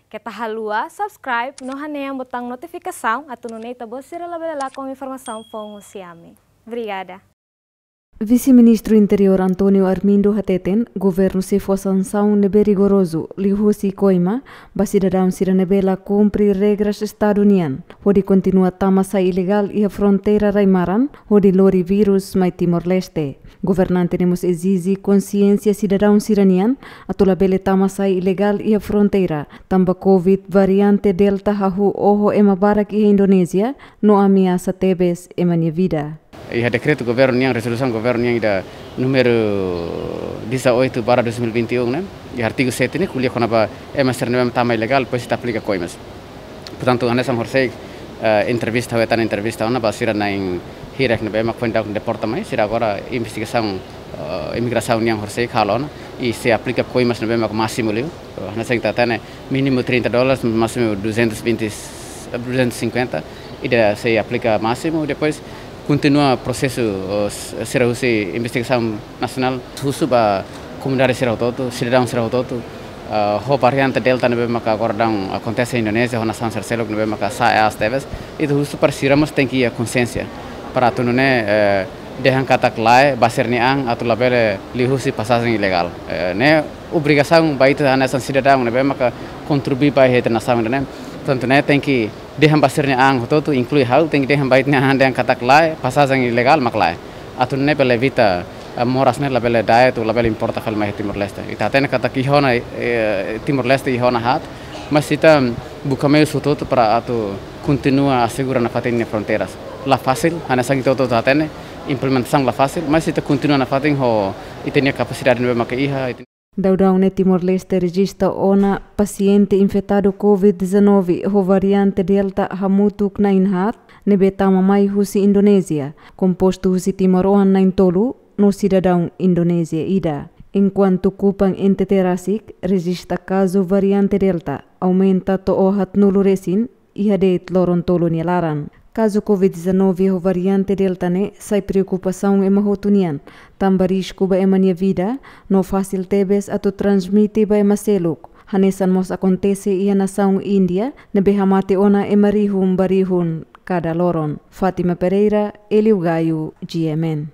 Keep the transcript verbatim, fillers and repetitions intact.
Keta haluha subscribe no hanehan butaun notifikasaun atu nune'e ita-boot sira labele lakon informasaun foun husi ami. Obrigada. Vise-Ministru Interiór António Armindo hateten, governu sei fó sansaun ne'ebé rigorozu liuhusi koima ba sidadaun sira ne'ebé la kumpre regras Estadu nian, hodi kontinua tama sai ilegál iha fronteira rai-maran, hodi lori vírus mai Timor-Leste. Governante ne'e mós ezije konsiénsia sidadaun sira-nian atu labele tama sai ilegál iha fronteira, tanba Covid variante Delta hahú oho ema barak iha Indonézia, no ameasa tebes ema nia vida. Iha dekretu governu nian, rezolusaun governu nian ida númeru dezoito barra dois mil e vinte e um, ne'e? Iha artigu sete ne'e, ko'alia kona-ba ema sira ne'ebé tama ilegál, depois ita aplika koimas. Portantu, hanesan horiseik, eh, entrevista, ha'u hetan entrevista ona ba sira na'in hirak ne'ebé mak foin daudaun deporta mai, sira agora investigasaun, eh, imigrasaun nian horiseik halo ona, i sei aplika koimas ne'ebé mak másimu liu. Eh, hanesan ita hatene mínimu trinta dólares, másimu duzentos e vinte, duzentos e cinquenta, ida sei aplika másimu, depois kontinua prosesu, eh, sira husi investigasaun nasionál, husu ba komunidade sira hotu-hotu, sidadaun sira hotu-hotu, eh, ho variante Delta ne'ebé maka agora daudaun akontese iha Indonézia, ho nasaun sira seluk ne'ebé maka sa'e aas tebes, ita husu para sira mós tenke iha konsiénsia, para atu nune'e, eh, dehan katak lae ba sira-nia an atu labele liuhusi pasajen ilegál. Eh, ne'e obrigasaun ba ita hanesan sidadaun ne'ebé maka kontribui ba iha ita-nia nasaun ida-ne'e. Portantu, ne'e tenke dehan ba sira-nia an hotu-hotu, inklui ha'u, tenke dehan ba ita-nia an dehan katak lae, pasajen ilegál mak lae. Atu nune'e bele evita, eh, moras ne'e labele da'et, labele importa fali mai Timor-Leste. Ita hatene katak iha ona, eh, Timor-Leste iha ona haat, mas ita buka meius hotu-hotu para atu kontinua asegura nafatin nia fronteiras. La fasil, hanesan ita hotu-hotu hatene, implementasaun la fasil, mas ita kontinua nafatin ho ita-nia kapasidade ne'ebé maka iha. Daudaun ne'e Timor-Leste rejista ona pasiente infetadu Covid dezanove ho variante Delta hamutuk na'in haat, ne'ebé tama mai husi Indonézia, kompostu husi timoroan na'in tolu no sidadaun Indonézia ida. Enkuantu Kupang N T T rasik rejista kazu variante Delta aumenta to'o haatnulu resin iha de'it loron tolu nia laran. Kazu Covid dezanove ho variante Delta ne'e sai preokupasaun ema hotu nian, tanba risku ba ema nia vida, no fasil tebes atu transmite ba ema seluk. Hanesan mós akontese iha nasaun Índia, ne'ebé hamate ona ema rihun ba rihun kada loron. Fátima Pereira, Hélio Gaio, G M N.